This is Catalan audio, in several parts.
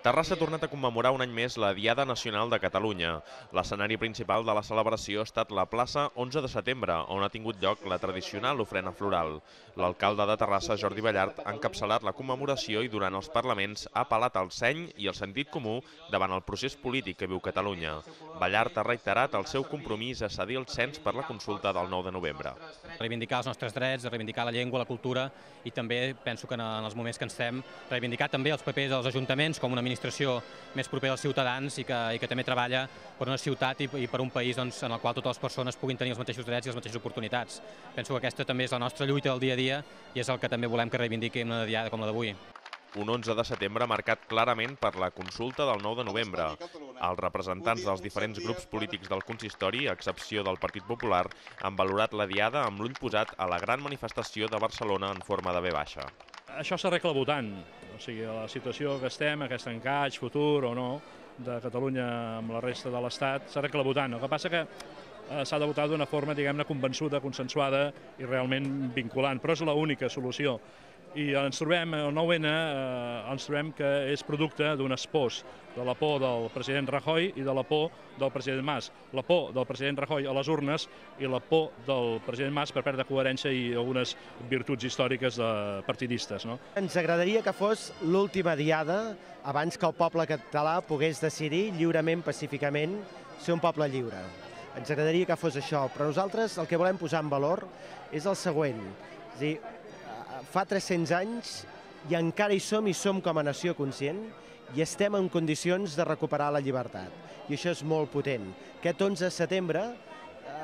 Terrassa ha tornat a commemorar un any més la Diada Nacional de Catalunya. L'escenari principal de la celebració ha estat la plaça 11 de setembre, on ha tingut lloc la tradicional ofrena floral. L'alcalde de Terrassa, Jordi Ballart, ha encapçalat la commemoració i durant els parlaments ha apel·lat al seny i el sentit comú davant el procés polític que viu Catalunya. Ballart ha reiterat el seu compromís a cedir el cens per la consulta del 9 de novembre. Reivindicar els nostres drets, reivindicar la llengua, la cultura i també penso que en els moments que ens estem reivindicar també els papers dels ajuntaments com una administració més propera als ciutadans i que també treballa per una ciutat i per un país en el qual totes les persones puguin tenir els mateixos drets i les mateixes oportunitats. Penso que aquesta també és la nostra lluita del dia a dia i és el que també volem que reivindiqui una diada com la d'avui. Un 11 de setembre marcat clarament per la consulta del 9 de novembre. Els representants dels diferents grups polítics del consistori, a excepció del Partit Popular, han valorat la diada amb l'ull posat a la gran manifestació de Barcelona en forma de V baixa. Això s'arregla votant, o sigui, la situació que estem, aquest encaix futur o no de Catalunya amb la resta de l'Estat, s'arregla votant. El que passa que s'ha de votar d'una forma, diguem-ne, convençuda, consensuada i realment vinculant, però és l'única solució. I ens trobem, el 9N, ens trobem que és producte d'un espòs de la por del president Rajoy i de la por del president Mas. La por del president Rajoy a les urnes i la por del president Mas per perdre coherència i algunes virtuts històriques partidistes. Ens agradaria que fos l'última diada abans que el poble català pogués decidir lliurement, pacíficament, ser un poble lliure. Ens agradaria que fos això, però nosaltres el que volem posar en valor és el següent. És a dir, fa 300 anys i encara hi som com a nació conscient i estem en condicions de recuperar la llibertat. I això és molt potent. Aquest 11 de setembre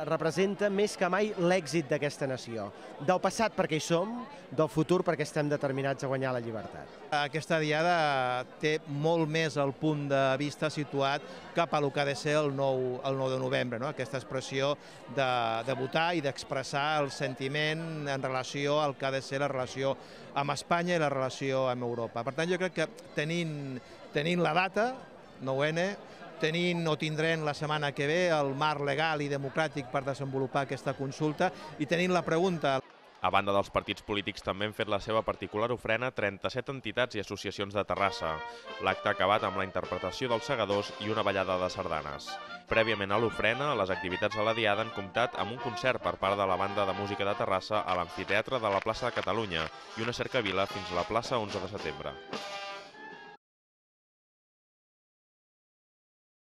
representa més que mai l'èxit d'aquesta nació. Del passat perquè hi som, del futur perquè estem determinats a guanyar la llibertat. Aquesta diada té molt més el punt de vista situat cap a el que ha de ser el 9 de novembre, no? Aquesta expressió de votar i d'expressar el sentiment en relació al que ha de ser la relació amb Espanya i la relació amb Europa. Per tant, jo crec que tenint la data, 9N, tenint o tindrem la setmana que ve el marc legal i democràtic per desenvolupar aquesta consulta i tenint la pregunta. A banda dels partits polítics també han fet la seva particular ofrena 37 entitats i associacions de Terrassa. L'acte ha acabat amb la interpretació dels segadors i una ballada de sardanes. Prèviament a l'ofrena, les activitats de la Diada han comptat amb un concert per part de la Banda de Música de Terrassa a l'amfiteatre de la plaça de Catalunya i una cercavila fins a la plaça 11 de setembre.